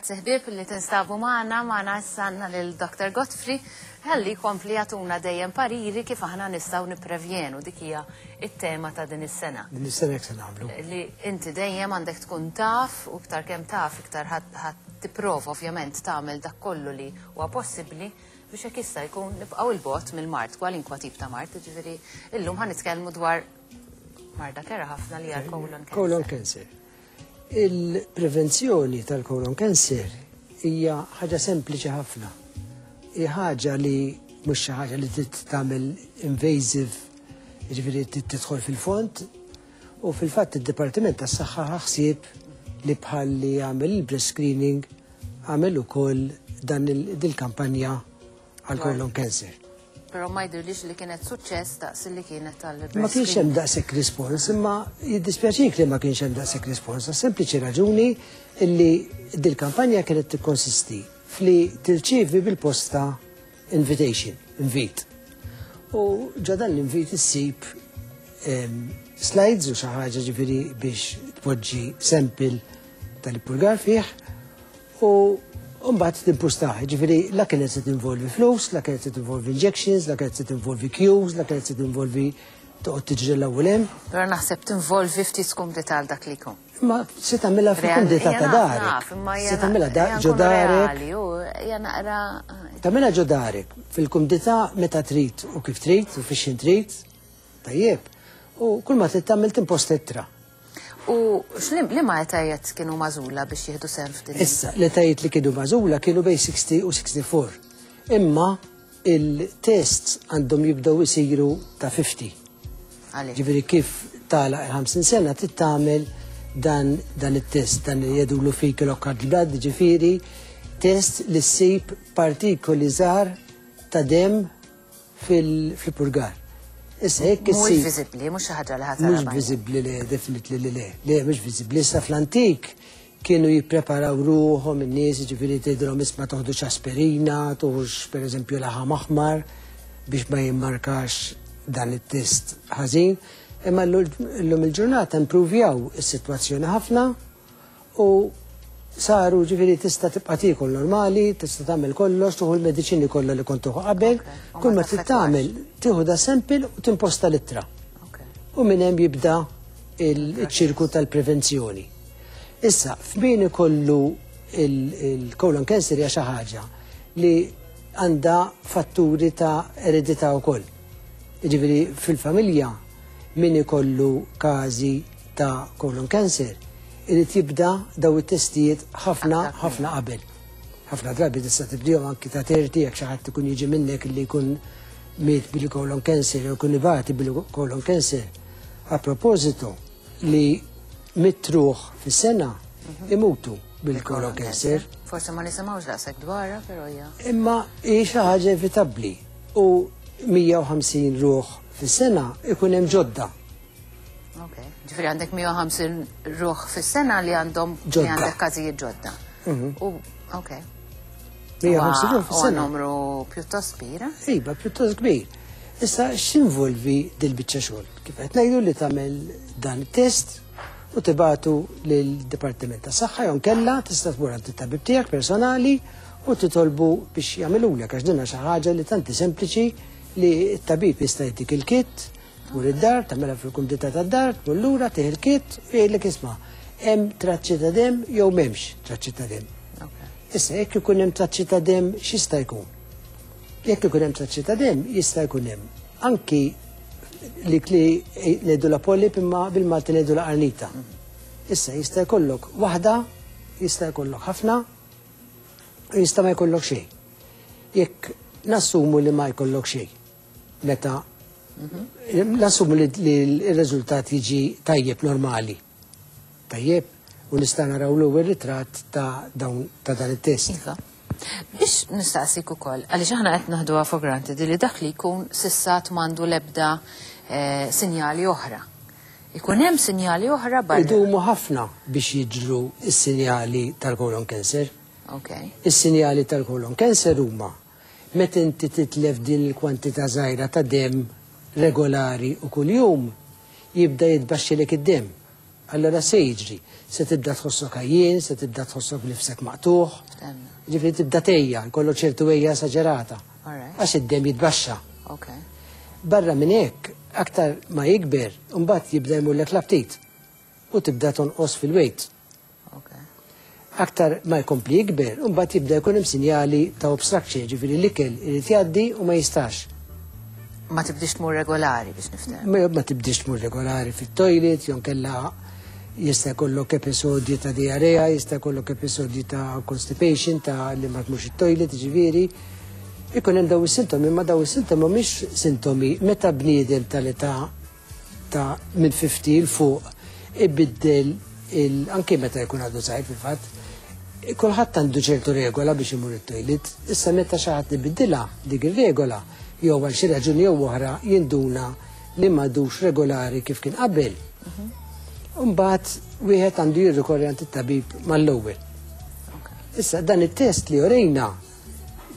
Grazzi ħbieb li tinstabu magħna, magħna issa għandna lil Dr. Godfrey ħalli jkompli jagħtuna dejjem pariri kif aħna nistgħu nipprevjenu dik hija t-tema ta' din is-sena. Din is-sena hekk se nagħmlu. Li inti dejjem għandek tkun taf u iktar kemm taf iktar ħadd tipprova ovvjament tagħmel dak kollu li huwa possibbli biex hekk jista' jkun nibqgħu 'l bogħod mill-mard, kwalinkwa tip ta' mard, jiġifieri illum ħa nitkellmu dwar marda kerha ħafna li hija l-colon cancer. Colon cancer. Il-prevenzjoni tal-colon cancer hija ħaġa sempliċi ħafna. Hi ħaġa li mhux xi ħaġa li trid tagħmel invasive, jiġifieri trid tidħol fil-fond, u fil-fatt id-Dipartiment tas-Saħħa ħa ħsieb li bħal li għamel il-breast screening għamel ukoll dan il-kampanja għal colon cancer. Però ma jidhirlix li kienet suċċess daqs li kienet tal Ma kienx hemm daqshekk rispons, imma jiddispjaċik li ma kienx hemm daqshekk rispons, għas sempliċi raġuni li dil-kampanja kienet tikkonsisti fli tirċievi bil-posta invitation, invit. U ġo dan l-invit issib slides u xi ħaġa ġifieri biex tpoġġi sample tal-ippurgar fih u mbagħad timpustah. Ġifieri la kienet se tinvolvi flus, la kienet se tinvolvi injections, la kienet se tinvolvi queues, la kienet se tinvolvi toqgħod tiġri l-ewwel hemm. Però naħseb tinvolvi ftit skumdità għal dak li jkun. Ma se tagħmilha fil-kumdità ta' darek. Se tagħmilha ġo darek. Tagħmilha ġo darek fil-kumdità meta trid u kif trid u fix trid. Tajjeb. U kull ma trid tagħmel timposta ittra. U liema etajiet kienu magħżula biex jieħdu sehem f'din? Issa, l-etajiet li kienu magħżula kienu bejn 60 u 64. Imma il-tests għandhom jibdew isiru ta' 50. Ġifieri kif tagħlaq il-50 sena trid tagħmel dan dan it-test, dan li jgħidulu fecal occult blood, ġifieri test li ssib partikoli żgħar ta' demm fil-purgar. Issa jekk issir. Mhux viżibbli, mhux xi ħaġa li ħadd. Mhux viżibbli le, definitely li le. Le, mhux viżibbli. Issa fl-antik kienu jippreparaw ruħhom in-nies, jiġifieri tgħidilhom isma' toħdux aspirina, tuħux pereżempju laħam aħmar biex ma jimmarkax dan it-test ħażin. Imma llum il-ġurnata impruvjaw is-sitwazzjoni ħafna U saru ġifieri tista' tibqa' tiekol normali, tista' tagħmel kollox, tuħu l-mediċini kollha li kont tuħu qabel, kull ma trid tagħmel tieħu da sample u timposta l-ittra. U minn hemm jibda il-ċirku tal-prevenzjoni. Issa, f'min ikollu il-colon cancer hija xi ħaġa li għandha fatturi ta' eredità wkoll. Jiġifieri fil-familja min ikollu każi ta' colon cancer irid jibda daw it-testijiet ħafna ħafna qabel. Ħafna drabi tista' tibdihom anki ta' 30 jekk xi ħadd ikun jiġi minnek li jkun miet bil-colon cancer jew jkun ibati bil-colon cancer. A proposito li mitruħ fis-sena mhm. imutu bil-colon cancer. Forse ma nisimgħux daqshekk dwarha, però hija. Imma hi xi ħaġa evitabbli u 150 ruħ fis-sena ikun hemm ġodda Ok, ġifiri għandek 150 ruħ fis-sena li għandhom li għandek każijiet ġodda. Mhm. U, ok. 150 ruħ fis-sena. Numru pjuttost kbir. Eh? Iva, pjuttost kbir. Issa x'involvi dil-biċċa xogħol? Kif qed ngħidu li tagħmel dan it-test u tibatu lill-Dipartiment tas Saħħa jew kella tista' tmur għand it-tabib tiegħek personali u titolbu biex jagħmilulek għax dinha xi ħaġa li tanti sempliċi li t-tabib jista' jtik il-kit Tmur id-dar, tagħmilha fil-kumdità tad-dar, tmur lura, tieħ il-kit u jgħidlek isma' hemm traċċi ta' demm jew m'hemmx traċċi ta' demm. Issa jekk ikun hemm traċċi ta' demm x'jista' jkun? Jekk ikun hemm traċċi ta' demm jista' jkun hemm anki li li ngħidu la polip imma bil-Malti ngħidu la qarnita. Issa jista' jkollok waħda, jista' jkollok ħafna, u jista' ma jkollok xejn. Jekk nassumu li ma jkollok xejn, meta nassumu li l-riżultat jiġi tajjeb normali. Tajjeb, u nista' naraw l-ewwel ritratt ta' dawn ta' dan it-test. Iva. Biex nistaqsik ukoll, għaliex aħna qed naħduha for granted li dak li jkun s'issa m'għandu l-ebda eh, sinjali oħra. Ikun hemm sinjali oħra barra. Idumu ħafna biex jiġru s-sinjali tal-colon cancer. Okay. Is-sinjali tal-colon cancer huma Meta inti titlef din il-kwantità żgħira ta' demm regolari u kuljum, jibda jitbaxxilek id-demm. Allora se jiġri, se tibda tħossok għajjien, se tibda tħossok nifsek maqtugħ. Ġifieri tibda tgħejja, jkollok ċertu għejja esaġerata. Għax id-demm jitbaxxa. Barra minn hekk, aktar ma jikber, imbagħad jibda jmurlek l-aptit u tibda tonqos fil-weight. Aktar ma jkompli jikber, imbagħad jibda jkun hemm sinjali ta' obstruction, ġifieri l-ikel irid jgħaddi u ma jistax. Ma tibdix tmur regolari biex niftem. Ma tibdix tmur regolari fit-toilet, jew kella jista' jkollok episodji ta' diarrea, jista' jkollok episodji ta' constipation, ta' li ma tmurx it-toilet, ġifieri. Ikun hemm daw is-sintomi, ma daw is-sintomi mhumiex sintomi meta bniedem tal-età ta' minn 50 'l fuq ibiddel anke meta jkun għadu żgħir fil-fatt, kulħadd għandu ċertu regola biex imur it-toilet. Issa meta xi ħadd ibiddilha dik ir-regola, jew għal xi raġuni jew oħra jinduna li m'għadux regolari kif kien qabel. Imbagħad wieħed għandu jirrikorri għand it-tabib mal-ewwel. Issa dan it-test li orejna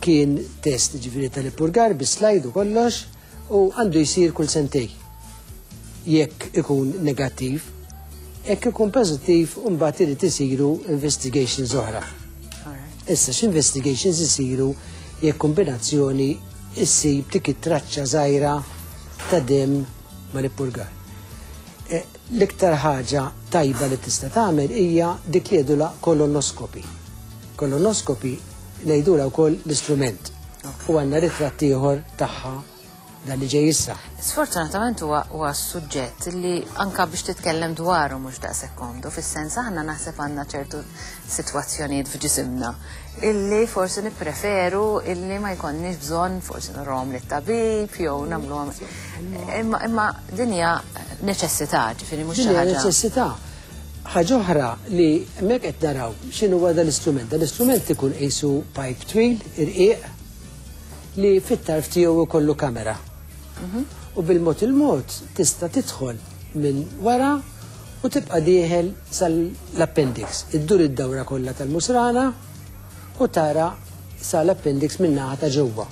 kien test ġifieri tal-ippurgar bis-slide u kollox u għandu jsir kull sentej. Jekk ikun negattiv, jekk ikun pożittiv mbagħad irid isiru investigations oħra. Issa x'investigations isiru jekk kombinazzjoni issib dik it-traċċa żgħira ta' demm mal-ippurgar. L-iktar ħaġa tajba li tista' tagħmel hija dik li jgħidulha kolonoskopi. Kolonoskopi ngħidulha wkoll l-istrument. U għandna ritratt ieħor tagħha dan li ġej issa. Sfortunatament huwa suġġett li anka biex titkellem dwaru mhux daqshekk komdu, fis-sens aħna naħseb għandna ċertu sitwazzjonijiet f'ġisimna illi forsi nippreferu illi ma jkollniex bżonn forsi nurhom lit-tabib jew nagħmluhom. Imma din hija neċessità, ġifieri mhux xi ħaġa. Neċessità. Ħaġa oħra li hemmhekk qed naraw x'inhu huwa dal-istrument. Dal-istrument ikun qisu pipe twil, irqiq, li fit-tarf tiegħu ikollu kamera. U bil-mod il-mod tista' tidħol minn wara u tibqa' dieħel sal-appendix. Iddur id-dawra kollha tal-musrana u tara sal-appendix min-naħa ta' ġewwa.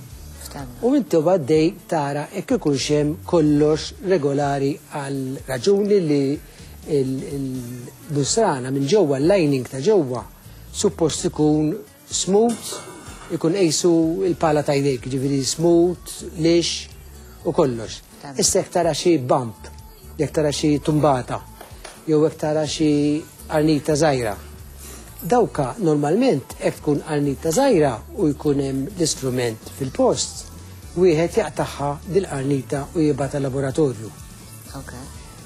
U inti għaddej tara jekk ikunx hemm kollox regolari għal raġuni li il-musrana minn ġewwa, l-lining ta' ġewwa, suppost ikun smooth, ikun qisu il-pala ta' jdejk, ġifieri smooth, lix u kollox. Issa jekk tara xi bump, jekk tara xi tumbata, jew jekk tara xi qarnita żgħira. Dawka normalment jekk tkun qarnita żgħira u jkun hemm l-istrument fil-post, wieħed jaqtagħha dil-qarnita u jibgħatha laboratorju.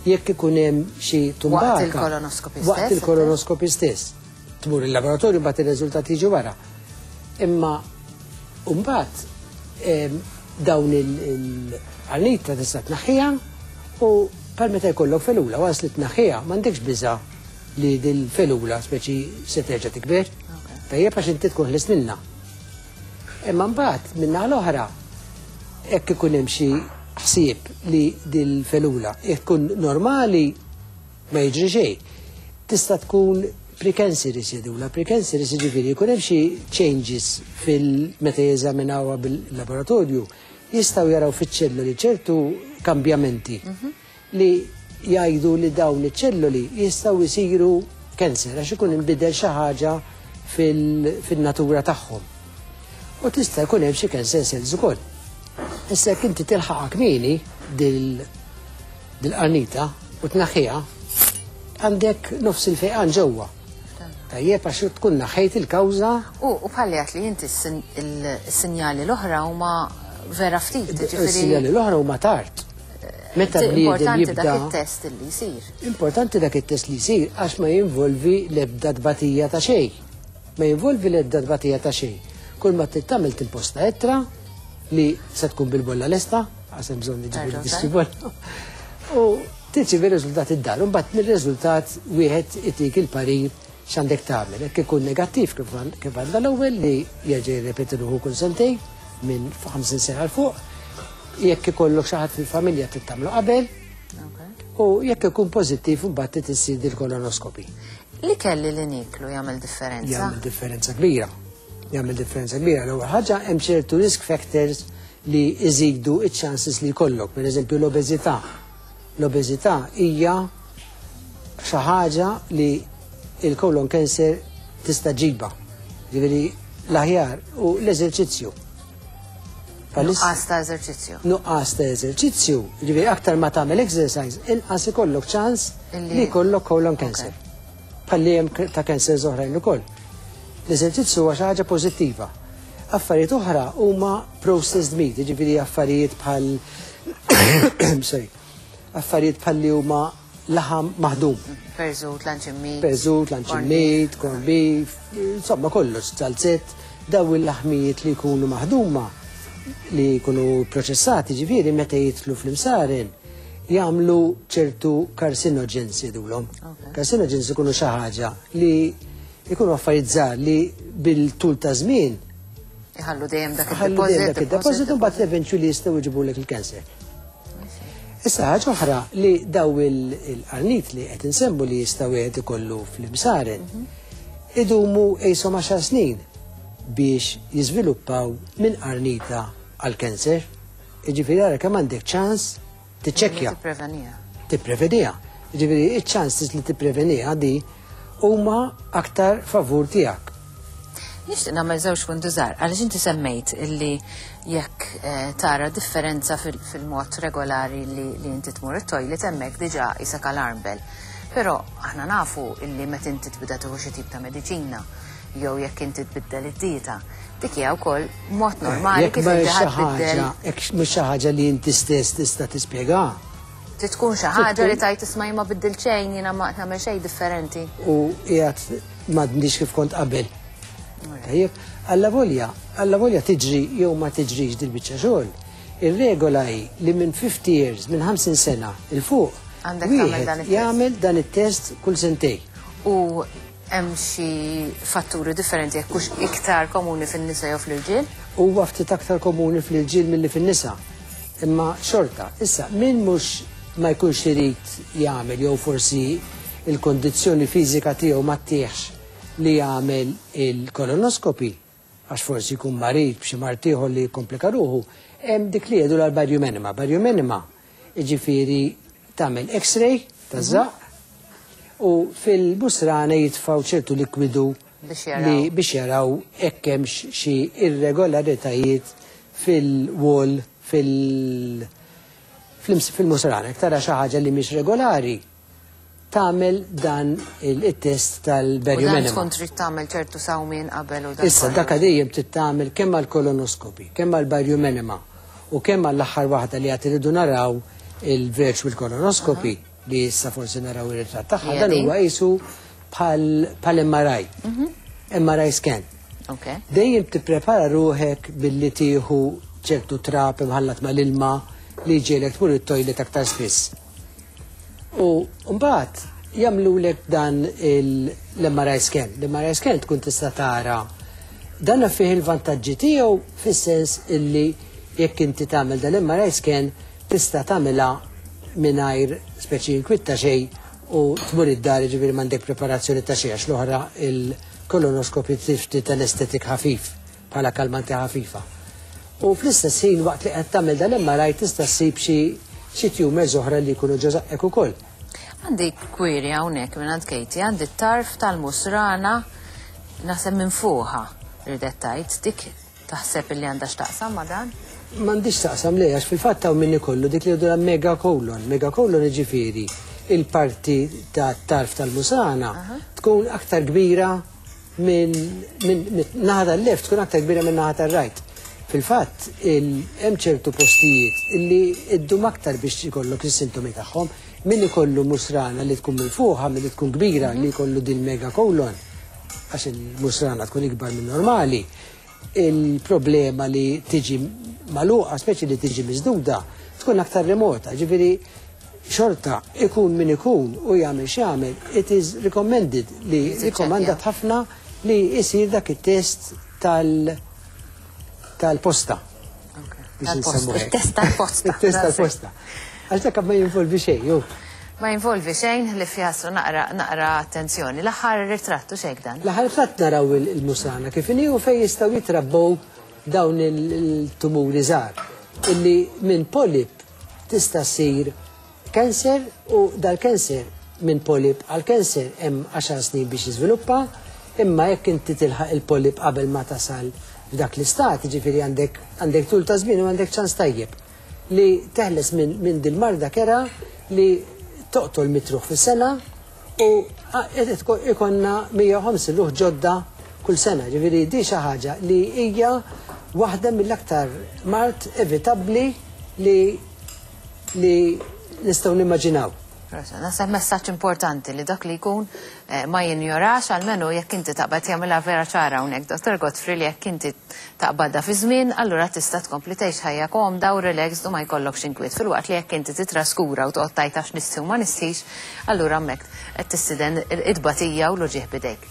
Jekk ikun hemm xi tumbata. Waqt il-kolonoskopi stess? Waqt il-kolonoskopi stess. Tmur il-laboratorju mbagħad ir-riżultati jiġu wara. Imma mbagħad dawn il-qarnita tista' tnaħħiha u bħal meta jkollok felula waqs li tnaħħiha m'għandekx biża' li dil-felula speċi se terġa' tikber. Tajjeb għax inti tkun ħlist minnha. Imma mbagħad min-naħa l-oħra hekk ikun hemm xi ħsieb li dil-felula jekk tkun normali ma jiġri xejn. Tista' tkun precancerous jgħidulha, precancerous jiġifieri jkun hemm xi changes fil meta jeżaminawha bil-laboratorju jistgħu jaraw fiċ-ċelluli ċertu kambjamenti li jgħidu li dawn iċ-ċelluli jistgħu jsiru cancer għax ikun inbidel xi ħaġa fil-natura tagħhom. U tista' jkun hemm xi cancer cells ukoll. Issa jekk inti tilħaqha kmieni dil-qarnita u tnaħħiha, għandek nofs il-fejqan ġewwa. Tajjeb għax tkun naħħejt il-kawża. U bħalli għedt li inti s-sinjali l-oħra huma vera ftit, ġifieri. Is-sinjali l-oħra huma tard. Meta bniedem Importanti jibda dak it-test li jsir. Importanti dak it-test li jsir għax ma jinvolvi l-ebda tbatija ta' xejn. Ma jinvolvi l-ebda tbatija ta' xejn. Kull ma trid tagħmel timposta ittra li se tkun bil-bolla lesta, għax hemm bżonn jiġifieri tixtri bolla. U tirċievi r-riżultat id-dar, u mbagħad mir-riżultat wieħed itik il-parir x'għandek tagħmel. Jekk ikun negattiv kif għandna l-ewwel li jerġa' jirrepeti ruħu kull sentejn minn 50 sena 'l fuq. Jekk ikollok xi ħadd fil-familja trid tagħmlu qabel. U jekk ikun pożittiv imbagħad trid issir dil-kolonoskopi. L-ikel li nieklu jagħmel differenza? Jagħmel differenza kbira. Jagħmel differenza kbira. L-ewwel ħaġa hemm ċertu risk factors li jżidu iċ-chances li jkollok, per eżempju l-obeżità. L-obeżità hija xi ħaġa li il-colon cancer tista' ġiba. Ġifieri l-aħjar u l-eżerċizzju. Nuqqas ta' eżerċizzju. Nuqqas ta' eżerċizzju, ġifieri aktar ma tagħmel exercise, inqas ikollok ċans li jkollok colon cancer. Bħalli hemm ta' cancers oħrajn ukoll. L-eżerċizzju huwa xi ħaġa pożittiva. Affarijiet oħra huma processed meat, ġifieri affarijiet bħal sorry, affarijiet bħal li huma laħam maħdum. Perżut, luncheon meat. Perżut, luncheon meat, corned beef, insomma kollox, zalzett, daw il-laħmijiet li jkunu maħduma li jkunu proċessati ġifieri meta jidħlu fl-imsaren jagħmlu ċertu carcinogens jgħidulhom. Carcinogens ikunu xi ħaġa li jkunu affarijiet żgħar li bil-tul ta' żmien Iħallu dejjem dak ħallu dejjem dak id-deposit. id-deposit u mbagħad eventually jistgħu jġibulek il-cancer. Issa ħaġa oħra li daw il-qarnit li qed insemmu li jistgħu wieħed ikollu fl-imsaren idumu qishom 10 snin biex jiżviluppaw minn qarnita għal cancer. Jiġifieri ara kemm għandek ċans tiċċekkja Tippreveniha. tippreveniha. Ġifieri iċ-ċanses li tippreveniha di huma aktar favur tiegħek. Nixtieq nagħmel żewġ punti żgħar għaliex inti semmejt illi jekk tara differenza fil-mod regolari li inti tmur it-toilet hemmhekk diġà isek alarm bell. Però aħna nafu illi meta inti tibda tieħu xi tip ta' mediċina jew jekk inti tbiddel id-dieta, dik hija wkoll mod normali Jekk kif ma inti xi ħa tbiddel. ħaġa, jekk mhux xi ħaġa li inti stess tista' tispjega. Trid tkun xi ħaġa li tajt isma' jien ma biddil xejn, jiena ma nagħmel xejn differenti. U qiegħed m'għadnix kif kont qabel. Tajjeb, alla volja tiġri jew ma tiġrix dil-biċċa xogħol. Ir-regola hi li minn 50 years, minn 50 sena 'il fuq, Għandek tagħmel wieħed dan it-test. jagħmel dan it-test kull sentej. U hemm xi fatturi differenti jekk hux iktar komuni fin-nisa jew fl-irġiel? Huwa ftit aktar komuni fl-irġiel milli fin-nisa. Imma xorta, issa min mhux ma jkunx irid jagħmel jew forsi il-kondizzjoni fiżika tiegħu ma ttieħx li jagħmel il-kolonoskopi, għax forsi jkun marid b'xi mard ieħor li jikkomplika ruħu, hemm dik li jgħidu l-barium enema. Barium enema, jiġifieri tagħmel X-ray taż-żaqq u fil-musrana jitfgħu ċertu likwidu Biex jaraw. li biex jaraw hekk hemmx xi irregolaritajiet fil-wall fil-musrana. Jekk tara xi ħaġa li mhix regolari, tagħmel dan il-test tal-barium U dan enema. tkun trid tagħmel ċertu sawmien qabel u dan Issa kollu. dak dejjem trid tagħmel kemm għall-kolonoskopi, kemm għall-barium enema u kemm għall-aħħar waħda li qed iridu naraw il-virtual colonoscopy li issa forsi naraw ir-ritratt tagħha, Hija dan din? huwa qisu bħal MRI. MRI scan. Dejjem tipprepara ruħek billi tieħu ċertu trab imħallat mal-ilma li jġiegħlek tmur it-toilet aktar spiss. U mbagħad jagħmlulek dan l-MRI scan. L-MRI scan tkun tista' tara dan fih il-vantaġġi tiegħu fis-sens illi jekk inti tagħmel dan l-MRI scan tista' tagħmilha mingħajr speċi inkwitta xejn u tmur id-dar, ġifieri m'għandek preparazzjoni ta' xejn, għax l-oħra il-kolonoskopi ftit anestetik ħafif bħala kalmanti ħafifa. U fl-istess ħin waqt li qed tagħmel dan l-MRI tista' ssib xi tumors oħra li jkunu ġo żaqqek ukoll. Għandi query hawnhekk minn għand Katie, għandi t-tarf tal-musrana naħseb minn fuqha ridet tgħid, dik taħseb illi għandha x'taqsam ma' dan? M'għandix taqsam le, għax fil-fatt hawn min ikollu dik li jgħidu megacolon. Megacolon jiġifieri il-parti ta' tarf tal-musrana tkun aktar kbira minn naħa tal-left, tkun aktar kbira minn naħa tal-right. Fil-fatt, hemm ċertu postijiet illi iddum aktar biex ikollok is-sintomi tagħhom. Min ikollu musrana li tkun minn fuqha, min li tkun kbira, li jkollu din megacolon, għax il-musrana tkun ikbar minn normali, il-problema li tiġi magħluqa, speċi li tiġi miżduda, tkun aktar remota. Ġifieri, xorta ikun min ikun u jagħmel x'jagħmel, it is recommended li Jisiċċekkja. rikomandat ħafna li jisir dak it-test tal-posta. Biex Tal-posta. insemmu hekk. Il-test tal-posta. Il-test tal-posta. Għax dak ma jinvolvi xejn, ju. Ma jinvolvi xejn li fjassu naqra attenzjoni. L-aħħar ritrattu xejn dan. L-aħħar ritratt naraw il-musrana kif inhi u fejn jistgħu jitrabbew dawn il-tumuri żgħar illi minn polip tista' ssir cancer u dal-cancer minn polip għal cancer hemm 10 snin biex jiżviluppa, imma jekk inti tilħaq il-polip qabel ma tasal f'dak l-istat, jiġifieri għandek għandek tul ta' żmien u għandek ċans tajjeb li teħles minn min dil-marda kerha li toqtol mitruħ fis-sena u ikonna 150 ruħ ġodda kull sena. Ġifieri di xi ħaġa li hija waħda mill-aktar mard evitabbli li li nistgħu nimmaġinaw. Naħseb messaġġ importanti li dak li jkun eh, ma jinjorax almenu jekk inti taqbad jagħmilha vera ċara hawnhekk Dr. Godfrey li jekk inti taqbadha fi żmien, allura tista' tkompli tgħix ħajja komda u relaxed u ma jkollokx inkwiet. Filwaqt li jekk inti titraskura u toqgħod tgħid għax nistħi u ma nistħix, allura hemmhekk qed tistiden it-tbatija u l-uġigħ b'idejk.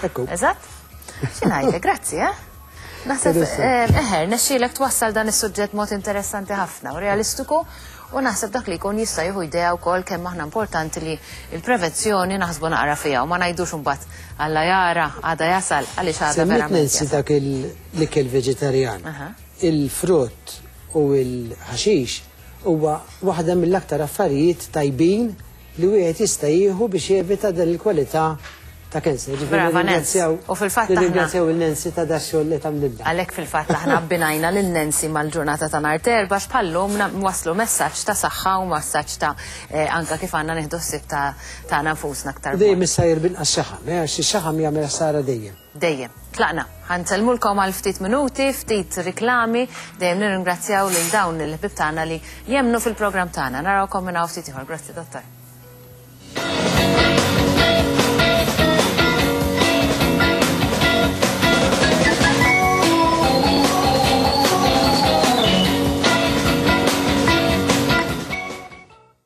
Ekku. Eżatt? Xi ngħidlek, grazzi, eh? Naħseb, eħe, rnexxielek twassal dan is-suġġett mod interessanti ħafna u realistiku u naħseb dak li jkun jista' jieħu idea wkoll kemm aħna importanti li l-prevenzjoni naħsbu naqra fiha u ma ngħidux imbagħad Alla jara, għada jasal, għaliex għada Semmiet verament Nancy jasal. dak l-ikel veġitarjan. Il-frott u l-ħaxix huwa waħda mill-aktar affarijiet tajbin li wieħed jista' jieħu biex jevita dan il-kwalità ta' cancer. Ġifieri Brava Nancy. nirringrazzjaw U fil-fatt aħna nirringrazzjaw il Nancy ta' dax-xogħol li tagħmlilna. Għalhekk fil-fatt aħna abbinajna lil Nancy mal-ġurnata ta' nhar t'Erbgħa għax bħal-lum nwasslu messaġġ ta' saħħa u messaġġ ta' anke kif għandna nieħdu ħsieb ta' tagħna nfusna aktar U dejjem b'mod. issajjar b'inqas xaħam, eh, għax ix-xaħam jagħmel ħsara dejjem. Dejjem. Tlaqna. Ħa nsellmulkom għal ftit minuti, ftit riklami, dejjem nirringrazzjaw lil dawn il-ħbieb tagħna li jemmnu fil-programm tagħna. Narawkom minn hawn ftit ieħor. Grazzi Dottor.